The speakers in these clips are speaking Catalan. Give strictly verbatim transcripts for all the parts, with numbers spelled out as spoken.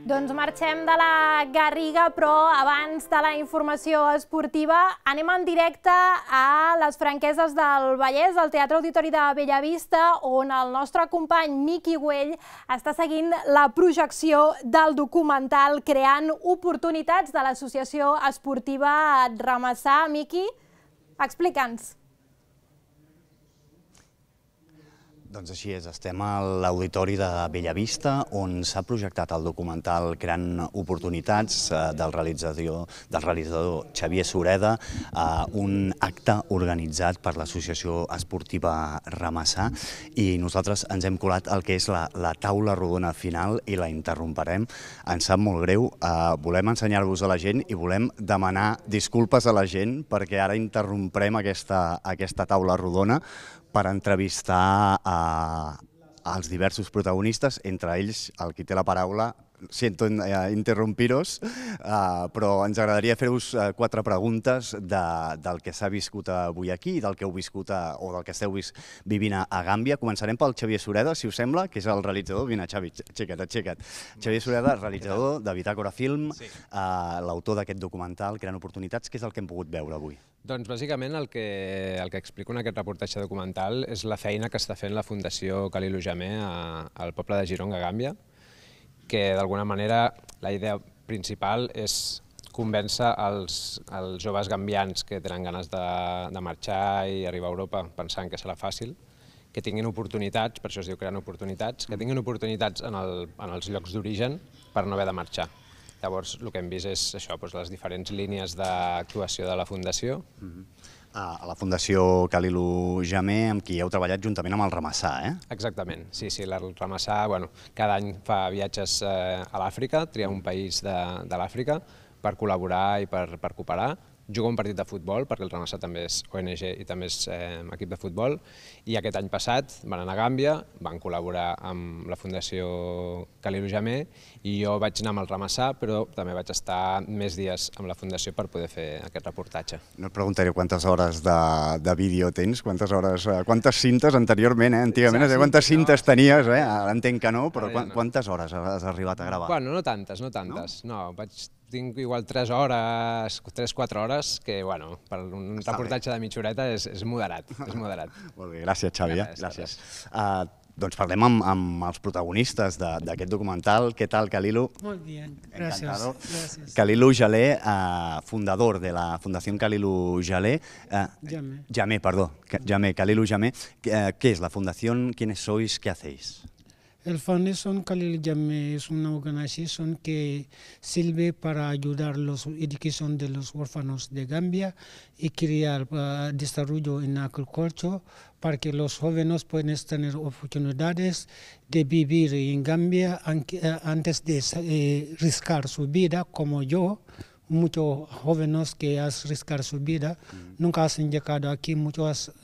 Doncs marxem de la Garriga, però abans de la informació esportiva anem en directe a les Franqueses del Vallès, al Teatre Auditori de Bellavista, on el nostre company Miqui Güell està seguint la projecció del documental Creant Oportunitats de l'Associació Esportiva Ramassà. Miqui, explica'ns. Doncs així és, estem a l'Auditori de Bellavista, on s'ha projectat el documental Creant Oportunitats del realitzador, del realitzador Xavier Sureda, un acte organitzat per l'Associació Esportiva Ramassà, i nosaltres ens hem colat el que és la, la taula rodona final i la interromperem. Ens sap molt greu, volem ensenyar-vos a la gent i volem demanar disculpes a la gent perquè ara interromprem aquesta, aquesta taula rodona per entrevistar als diversos protagonistes, entre ells el qui té la paraula. Siento interrompiros, però ens agradaria fer-vos quatre preguntes del que s'ha viscut avui aquí, del que heu viscut o del que esteu vivint a Gàmbia. Començarem pel Xavier Sureda, si us sembla, que és el realitzador. Vine, Xavi, aixeca't, aixeca't. Xavier Sureda, realitzador de Bitàcora Film, l'autor d'aquest documental Creant Oportunitats. Què és el que hem pogut veure avui? Doncs bàsicament el que, el que explico en aquest reportatge documental és la feina que està fent la Fundació Khalilou Jammeh al poble de Gironga, Gàmbia, que d'alguna manera la idea principal és convèncer els, els joves gambians que tenen ganes de, de marxar i arribar a Europa pensant que serà fàcil, que tinguin oportunitats, per això es diu Creant Oportunitats, que tinguin oportunitats en, el, en els llocs d'origen per no haver de marxar. Llavors, el que hem vist és això, doncs, les diferents línies d'actuació de la Fundació. A la Fundació Khalilou Jammeh, amb qui heu treballat juntament amb el Ramassà, eh? Exactament, sí, sí, el Ramassà bueno, cada any fa viatges eh, a l'Àfrica, tria un país de, de l'Àfrica per col·laborar i per, per cooperar. Juga un partit de futbol, perquè el Ramassà també és O N G i també és eh, equip de futbol, i aquest any passat van anar a Gàmbia, van col·laborar amb la Fundació Khalilou Jammeh, i jo vaig anar amb el Ramassà, però també vaig estar més dies amb la Fundació per poder fer aquest reportatge. No et preguntaré quantes hores de, de vídeo tens, quantes hores, quantes cintes anteriorment, eh? Antigament, sí, quantes cintes no. tenies, eh? Ara entenc que no, però ja no. Quantes hores has arribat a gravar? Bueno, no tantes, no tantes, no, no vaig... Tinc igual tres hores, tres quatre hores, que bueno, per un Està reportatge bé. de mitja horeta és, és moderat, és moderat. Molt bé, gràcies Xavi, eh? Gràcies. Uh, doncs parlem amb, amb els protagonistes d'aquest documental. Què tal, Khalilou? Molt bé, gràcies. gràcies. Khalilou Jammeh, uh, fundador de la Fundació Khalilou Jammeh. Uh, Jammeh. Jammeh, perdó. Jammeh, Khalilou Jammeh. Uh, ¿Qué es la fundación? ¿Quiénes sois? ¿Qué hacéis? El Fundación Khalilou Jammeh es una organización que sirve para ayudar a la educación de los huérfanos de Gambia y crear uh, desarrollo en agricultura para que los jóvenes puedan tener oportunidades de vivir en Gambia antes de eh, riscar su vida, como yo. Muchos jóvenes que han riscado su vida mm. nunca han llegado aquí, muchos han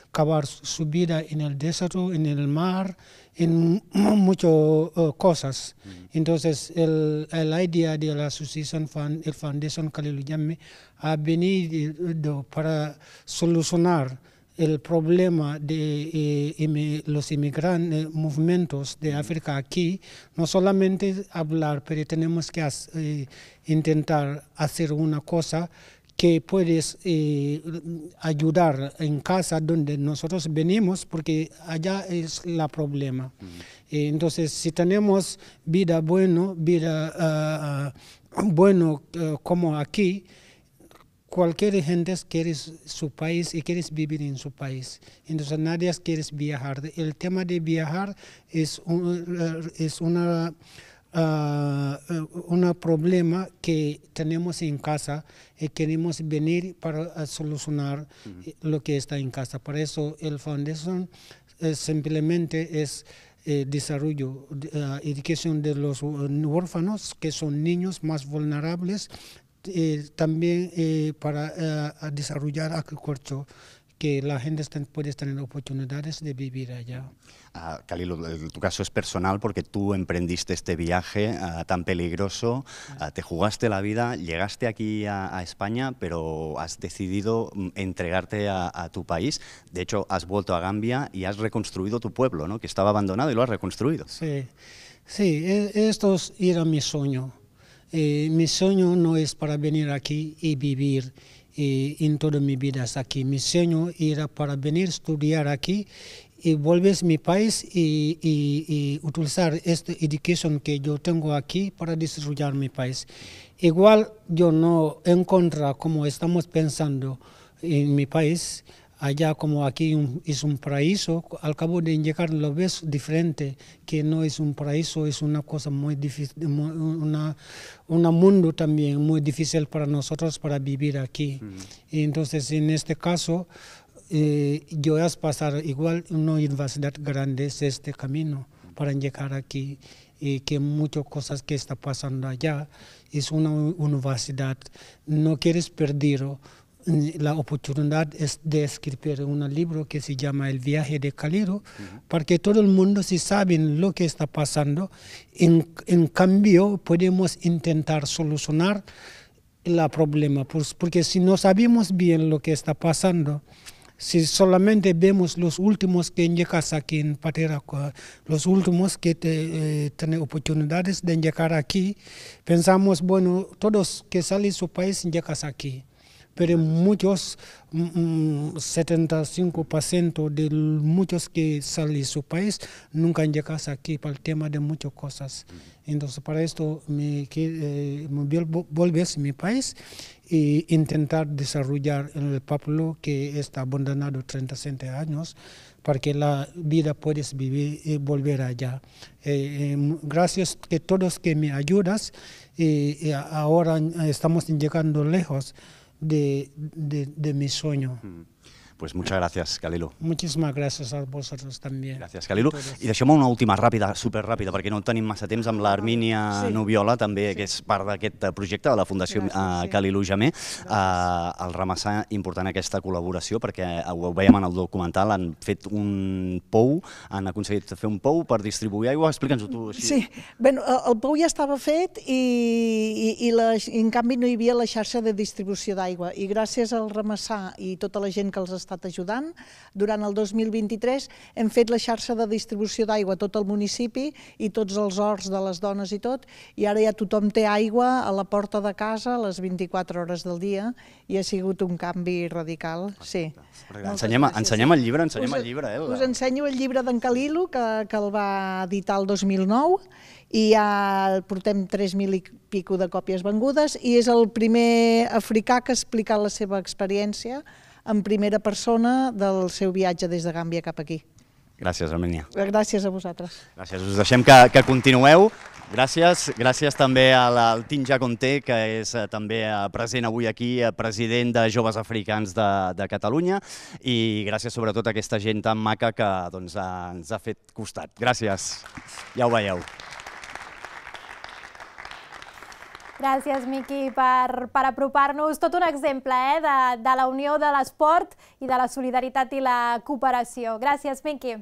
acabado su vida en el desierto, en el mar, en muchas uh, cosas. Mm. Entonces, el, la idea de la asociación, el Fundación Khalilou Jammeh, ha venido para solucionar el problema de eh, los inmigrantes, movimientos de África aquí, no solamente hablar, pero tenemos que eh, intentar hacer una cosa que puedes eh, ayudar en casa donde nosotros venimos, porque allá es el problema. Mm. Eh, entonces, si tenemos vida buena, vida uh, bueno uh, como aquí, cualquier gente quiere su país y quiere vivir en su país. Entonces nadie quiere viajar. El tema de viajar es un es una, uh, una problema que tenemos en casa y queremos venir para solucionar uh-huh. lo que está en casa. Por eso el Fundación eh, simplemente es eh, desarrollo, uh, educación de los huérfanos, que son niños más vulnerables, Eh, también eh, para eh, desarrollar agricultura, que la gente puede tener oportunidades de vivir allá. Uh, Khalil, tu caso es personal porque tú emprendiste este viaje uh, tan peligroso, uh, te jugaste la vida, llegaste aquí a, a España, pero has decidido entregarte a, a tu país. De hecho, has vuelto a Gambia y has reconstruido tu pueblo, ¿no? Que estaba abandonado y lo has reconstruido. Sí, sí, esto era mi sueño. Eh, mi sueño no es para venir aquí y vivir eh, en toda mi vida aquí. Mi sueño era para venir a estudiar aquí y volver a mi país y, y, y utilizar esta educación que yo tengo aquí para desarrollar mi país. Igual yo no encuentro como estamos pensando en mi país, allá como aquí un, es un paraíso, al cabo de llegar lo ves diferente, que no es un paraíso, es una cosa muy difícil, una, un mundo también muy difícil para nosotros para vivir aquí. Mm. Y entonces en este caso, eh, yo voy a pasar igual una universidad grande es este camino para llegar aquí y que muchas cosas que está pasando allá es una universidad, no quieres perderlo. La oportunidad es de escribir un libro que se llama El viaje de Khalil, uh-huh. para que todo el mundo se sabe lo que está pasando. En, en cambio, podemos intentar solucionar el problema, pues, porque si no sabemos bien lo que está pasando, si solamente vemos los últimos que llegan aquí en Patera, los últimos que te, eh, tienen oportunidades de llegar aquí, pensamos, bueno, todos que salen de su país llegan aquí. Pero muchos, mm, setenta y cinco por ciento de muchos que salen de su país nunca llegan aquí por el tema de muchas cosas. Entonces, para esto me, eh, me volví a mi país e intentar desarrollar el pueblo que está abandonado treinta años para que la vida puedes vivir y volver allá. Eh, eh, gracias a todos que me ayudas, eh, y ahora estamos llegando lejos De, de, de mi sueño. Pues muchas gracias, Khalil. Muchísimas gracias a vosotros también. Gràcies, Khalil. I deixem una última ràpida, superràpida, perquè no tenim massa temps, amb l'Armínia sí. Nubiola, també, sí. que és part d'aquest projecte de la Fundació gràcies, uh, sí. Khalil Jammeh. Uh, el ramassar important aquesta col·laboració, perquè ho veiem en el documental, han fet un pou, han aconseguit fer un pou per distribuir aigua. Explica'ns-ho tu així. Sí, bueno, el pou ja estava fet i, i, i la, en canvi no hi havia la xarxa de distribució d'aigua. I gràcies al ramassar i tota la gent que els estat ajudant, durant el dos mil vint-i-tres hem fet la xarxa de distribució d'aigua a tot el municipi i tots els horts de les dones i tot, i ara ja tothom té aigua a la porta de casa a les vint-i-quatre hores del dia i ha sigut un canvi radical. Sí. Ensenyem, ensenyem el llibre, ensenyem us, el llibre. Eh, us ensenyo el llibre d'en Khalil, que, que el va editar el dos mil nou, i ja portem tres mil i pico de còpies vengudes, i és el primer africà que ha explicat la seva experiència en primera persona del seu viatge des de Gàmbia cap aquí. Gràcies, Armínia. Gràcies a vosaltres. Gràcies, us deixem que, que continueu. Gràcies, gràcies també al Tinja Conté, que és també present avui aquí, president de Joves Africans de, de Catalunya, i gràcies sobretot a aquesta gent tan maca que doncs, ens ha fet costat. Gràcies, ja ho veieu. Gràcies, Miqui, per, per apropar-nos tot un exemple eh, de, de la unió de l'esport i de la solidaritat i la cooperació. Gràcies, Miqui.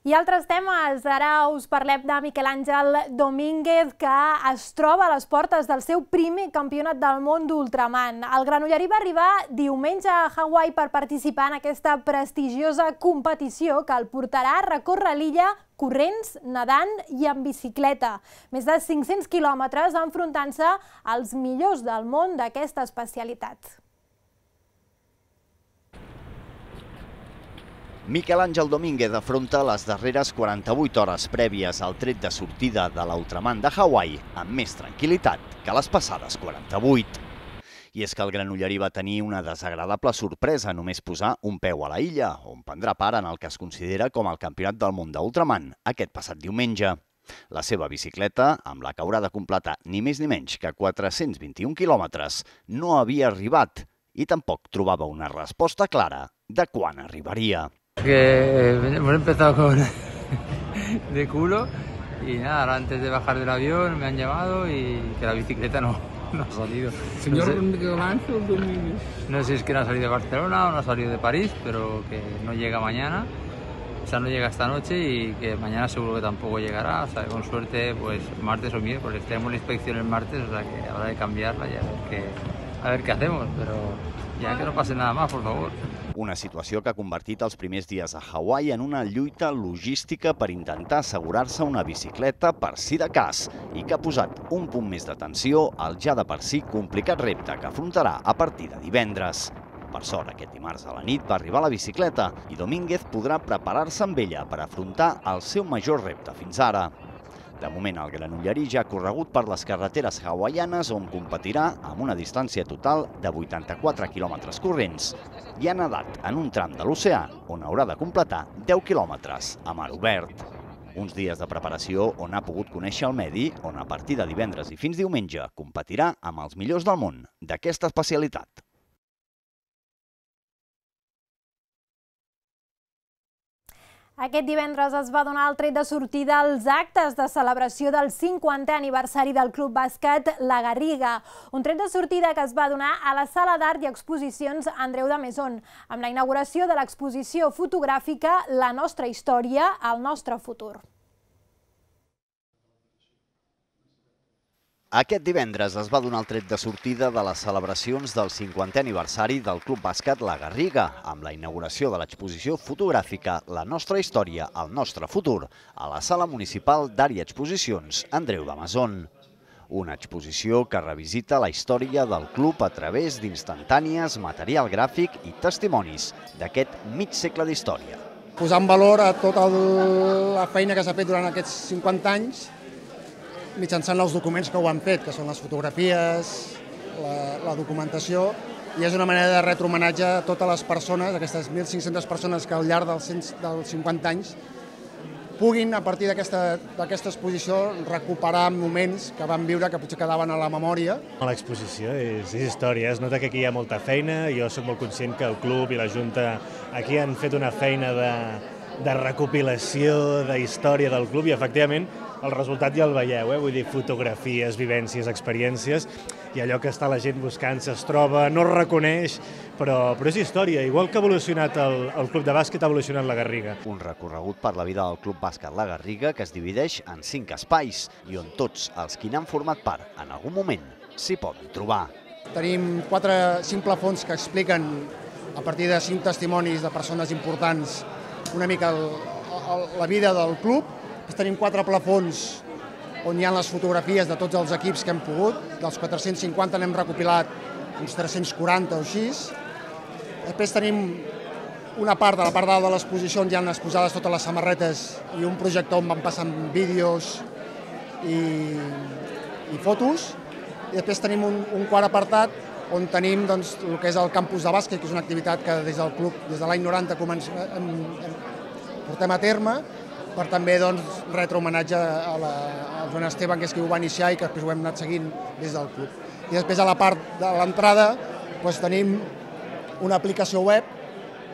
I altres temes, ara us parlem de Miquel Àngel Domínguez, que es troba a les portes del seu primer campionat del món d'ultraman. El granollerí va arribar diumenge a Hawaii per participar en aquesta prestigiosa competició que el portarà a recórrer l'illa corrents, nedant i en bicicleta. Més de cinc-cents quilòmetres enfrontant-se als millors del món d'aquesta especialitat. Miquel Àngel Domínguez afronta les darreres quaranta-vuit hores prèvies al tret de sortida de l'Ultraman de Hawaii amb més tranquil·litat que les passades quaranta-vuit. I és que el granollerí va tenir una desagradable sorpresa només posar un peu a la illa, on prendrà part en el que es considera com el Campionat del Món d'Ultraman aquest passat diumenge. La seva bicicleta, amb la que haurà de completar ni més ni menys que quatre-cents vint-i-un quilòmetres, no havia arribat i tampoc trobava una resposta clara de quan arribaria. Que hemos empezado con de culo y nada, ahora antes de bajar del avión me han llamado y que la bicicleta no, no ha salido. Señor No sé, Gavanzo Domínguez. no sé si es que no ha salido de Barcelona o no ha salido de París, pero que no llega mañana. O sea, no llega esta noche y que mañana seguro que tampoco llegará. O sea, con suerte, pues martes o miércoles. Tenemos la inspección el martes, o sea que habrá de cambiarla y a ver qué, a ver qué hacemos. Pero ya que no pase nada más, por favor. Una situació que ha convertit els primers dies a Hawaii en una lluita logística per intentar assegurar-se una bicicleta per si de cas i que ha posat un punt més d'atenció al ja de per si complicat repte que afrontarà a partir de divendres. Per sort, aquest dimarts a la nit va arribar la bicicleta i Domínguez podrà preparar-se amb ella per afrontar el seu major repte fins ara. De moment, el granollerí ja ha corregut per les carreteres hawaianes on competirà amb una distància total de vuitanta-quatre quilòmetres corrents i ha nedat en un tram de l'oceà on haurà de completar deu quilòmetres a mar obert. Uns dies de preparació on ha pogut conèixer el medi, on a partir de divendres i fins diumenge competirà amb els millors del món d'aquesta especialitat. Aquest divendres es va donar el tret de sortida als actes de celebració del cinquantè aniversari del Club Bàsquet La Garriga. Un tret de sortida que es va donar a la Sala d'Art i Exposicions Andreu de Maison, amb la inauguració de l'exposició fotogràfica La nostra història, el nostre futur. Aquest divendres es va donar el tret de sortida de les celebracions del cinquantè aniversari del Club Bàsquet La Garriga, amb la inauguració de l'exposició fotogràfica La nostra història, el nostre futur, a la Sala Municipal d'Art i Exposicions Andreu de Maison. Una exposició que revisita la història del club a través d'instantànies, material gràfic i testimonis d'aquest mig segle d'història. Posar en valor a tota la feina que s'ha fet durant aquests cinquanta anys mitjançant els documents que ho han fet, que són les fotografies, la, la documentació, i és una manera de retre homenatge a totes les persones, aquestes mil cinc-centes persones que al llarg dels, dels cinquanta anys puguin, a partir d'aquesta exposició, recuperar moments que van viure que potser quedaven a la memòria. L'exposició és, és història, es nota que aquí hi ha molta feina, jo soc molt conscient que el club i la Junta aquí han fet una feina de, de recopilació, de història del club, i efectivament el resultat ja el veieu, eh? Vull dir, fotografies, vivències, experiències, i allò que està la gent buscant es troba, no es reconeix, però, però és història. Igual que ha evolucionat el, el club de bàsquet, ha evolucionat la Garriga. Un recorregut per la vida del Club Bàsquet La Garriga que es divideix en cinc espais i on tots els qui n'han format part en algun moment s'hi poden trobar. Tenim quatre, cinc plafons que expliquen, a partir de cinc testimonis de persones importants, una mica el, el, la vida del club. Tenim quatre plafons on hi ha les fotografies de tots els equips que hem pogut. Dels quatre-cents cinquanta n'hem recopilat uns tres-cents quaranta o així. Després tenim una part, de la part dalt de l'exposició, on hi ha exposades totes les samarretes i un projector on van passant vídeos i, i fotos. I després tenim un, un quart apartat on tenim doncs, el que és el campus de bàsquet, que és una activitat que des del club, des de l'any noranta, comencem, em, em, portem a terme, per també doncs, retre homenatge a, la, a Joan Esteban, que és qui ho va iniciar i que després ho hem anat seguint des del club. I després a la part de l'entrada doncs, tenim una aplicació web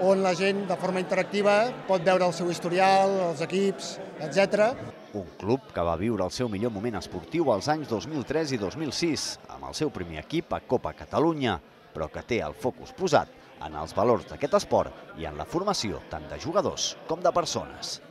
on la gent de forma interactiva pot veure el seu historial, els equips, etcètera. Un club que va viure el seu millor moment esportiu als anys dos mil tres i dos mil sis, amb el seu primer equip a Copa Catalunya, però que té el focus posat en els valors d'aquest esport i en la formació tant de jugadors com de persones.